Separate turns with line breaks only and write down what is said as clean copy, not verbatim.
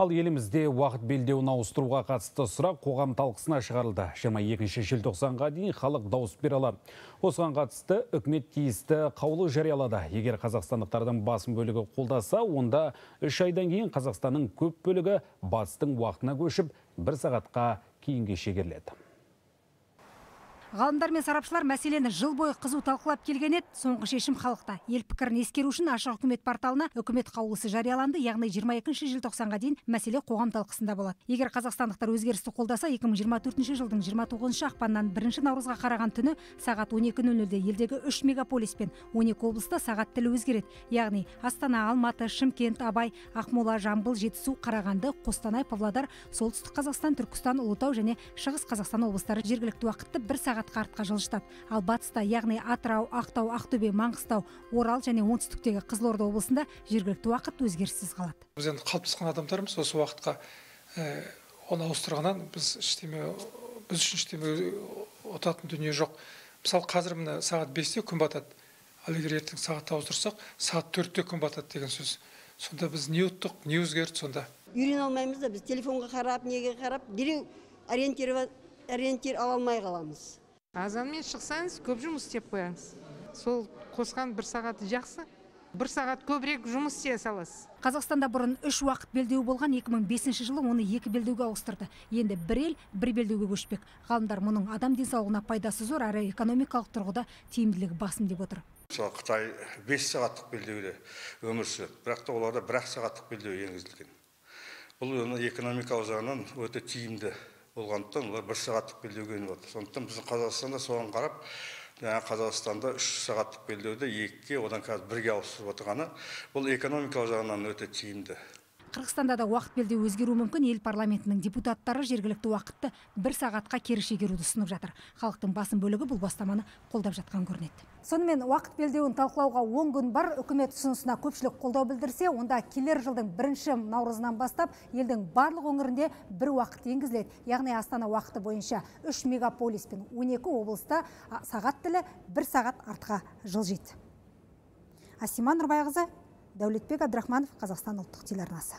Ал елімізде уақыт белдеуін ауыстыруға қатысты сұрақ қоғам талқысына шығарылды. 22 желтоқсанға дейін халық дауыс бере алады. Осыған қатысты үкімет тиісті қаулы жариялады. Егер қазақстандықтардың басым бөлігі қолдаса, онда 3 айдан кейін Қазақстанның көп бөлігі батыстың уақытына көшіп, 1 сағатқа кейінге шегеріледі.
Ғалымдар мен сарапшылар мәселені жыл бойы қызу талқылап келген еді. Соңғы шешім халықта. Ел пікірін ескеру үшін ашық үкімет порталына үкімет қаулысы жарияланды, яғни 22 желтоқсанға дейін мәселе қоғам талқысында болады. Егер қазақстандықтар өзгерісті қолдаса, 2024 жылдың 29 ақпаннан 1 наурызға қараған түні сағат 12:00-де елдегі 3 мегаполис пен 12 облыста сағат тілі өзгереді. Яғни Астана, Алматы, Шымкент, Абай, Ақмола, Жамбыл, Жетісу, Қарағанды, Қостанай, Павлодар, Солтүстік Қазақстан, Түркістан, Ұлытау және Шығыс Қазақстан облыстары жергілікті уақытты 1 сағат артқа жылжытады. Ал батыста, яғни Атырау, Ақтау, Ақтөбе, Маңғыстау, Орал және оңтүстіктегі Қызылорда облысында жергілікті уақыт өзгеріссіз қалады.
Біз енді қалыптасқан адамдармыз, осы уақытқа оны ауыстырғаннан біз үшін ештеме ұтатын дүние жоқ. Мысалы, қазір мына сағат 5-те күн батады. Ал егер ертең сағатты ауыстырсақ, сағат 4-те күн батады деген сөз. Сонда біз не ұттық, не өзгерді сонда?
Үйрене алмаймыз да, біз телефонға қарап, неге қарап, дереу ориентир ала алмай қаламыз.
Азанмен шықсаңыз, көп жұмыс істеп қояңыз. Сол қосқан 1 сағаты жақсы. 1 сағат көбірек жұмыс істей саласыз.
Қазақстанда бұрын 3 уақыт белдеуі болған, 2005 жылы оны 2 белдеуге ауыстырды. Енді бір ел 1 белдеуге көшпек. Ғалымдар мұның адам денсаулығына пайдасы зор, әрі экономикалық тұрғыда тиімділігі басым деп отыр.
Қытай 5 сағаттық белдеуде өмір сүреді, бірақ та оларда 1 сағаттық белдеу енгізілген. Бұл экономикалық жағынан өте тиімді болғандықтан олар 1 сағаттық белдеуге еніп. Сондықтан біздің Қазақстанда соған қарап, Қазақстанда 3 сағаттық белдеуді 2-ге, одан қазір 1-ге ауыстырып отырғаны, бұл экономикалық жағынан өте тиімді.
Қырғызстанда да уақыт белдеуі өзгеруі мүмкін. Ел парламентінің депутаттары жергілікті уақытты 1 сағатқа кері шегеруді ұсынып жатыр. Халықтың басым бөлігі бұл бастаманы қолдап жатқан көрінеді. Сонымен уақыт белдеуін талқылауға 10 күн бар. Үкімет ұсынысына көпшілік қолдау білдірсе, онда келер жылдың 1 наурызынан бастап елдің барлық өңірінде 1 уақыт енгізіледі. Яғни Астана уақыты бойынша 3 мегаполис пен 12 облыста сағат тілі 1 сағат артқа жылжиды. Асима Нұрбайқызы, Дәулетбек Абдрахманов, Қазақстан ұлттық телеарнасы.